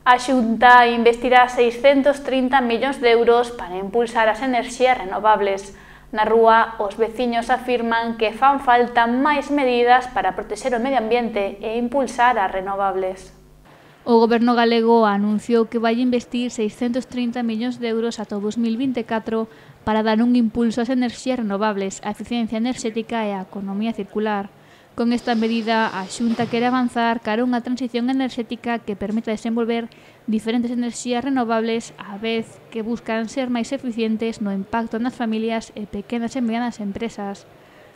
A Xunta investirá 630 millóns de euros para impulsar as enerxías renovables. Na rúa, os veciños afirman que fan falta máis medidas para protexer o medio ambiente e impulsar as renovables. O Goberno galego anunciou que vai investir 630 millóns de euros ata o 2024 para dar un impulso ás enerxías renovables, á eficiencia enerxética e á economía circular. Con esta medida, a Xunta quere avanzar cara a unha transición enerxética que permita desenvolver diferentes enerxías renovables á vez que buscan ser máis eficientes no impacto nas familias e pequenas e medianas empresas.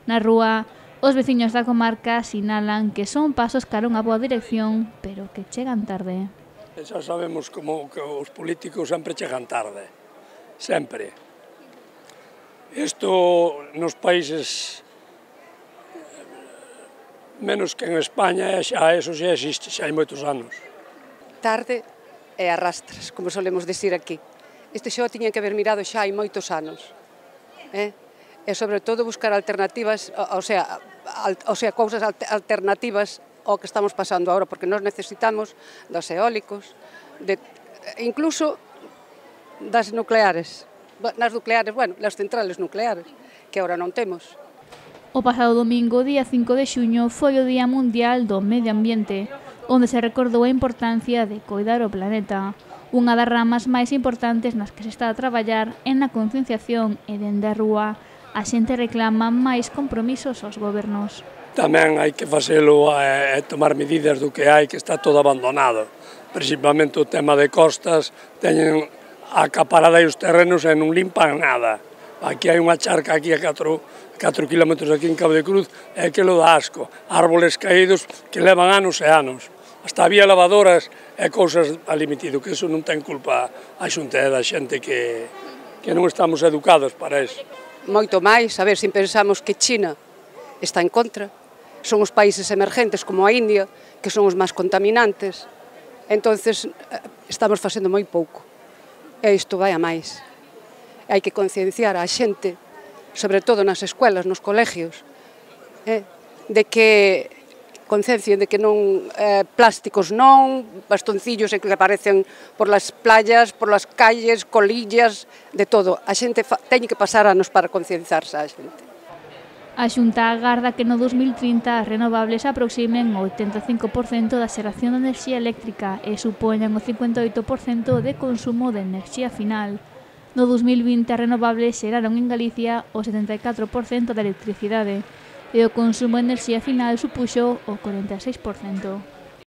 Na rúa, os veciños da comarca sinalan que son pasos cara a unha boa dirección, pero que chegan tarde. Xa sabemos como que os políticos sempre chegan tarde, sempre. Isto nos países menos que en España, xa eso xa existe, xa hai moitos anos. Tarde e arrastras, como solemos dicir aquí. Isto xa o tiñan que haber mirado xa hai moitos anos. E sobre todo buscar alternativas, o sea, cousas alternativas ao que estamos pasando agora, porque nós necesitamos dos eólicos, incluso das nucleares. Nas nucleares, bueno, las centrales nucleares, que agora non temos. O pasado domingo, día 5 de xuño, foi o Día Mundial do Medio Ambiente, onde se recordou a importancia de coidar o planeta. Unha das ramas máis importantes nas que se está a traballar é na concienciación e dende a rúa a xente reclama máis compromisos aos gobernos. Tamén hai que facelo e tomar medidas do que hai, que está todo abandonado. Principalmente o tema de costas, teñen acaparada os terrenos e non limpan nada. Aquí hai unha charca aquí a 4 kilómetros aquí en Cabo de Cruz, é que lo dá asco. Árboles caídos que levan anos e anos. Hasta había lavadoras e cousas al limitido, que eso non ten culpa a Xunta e da xente que non estamos educados para eso. Moito máis, a ver, se pensamos que China está en contra, son os países emergentes como a India, que son os máis contaminantes, entonces estamos facendo moi pouco. E isto vai a máis. Hai que concienciar a xente, sobre todo nas escuelas, nos colegios, de que conciencien de que non plásticos non, bastoncillos que aparecen por las playas, por las calles, colillas, de todo. A xente teñe que pasar anos para concienciarse a xente. A Xunta agarda que no 2030 as renovables aproximen o 85% da xeración de enerxía eléctrica e supoñan o 58% de consumo de enerxía final. No 2020 as renovables xeraron en Galicia o 74% da electricidade e o consumo de enerxía final supuxo o 46%.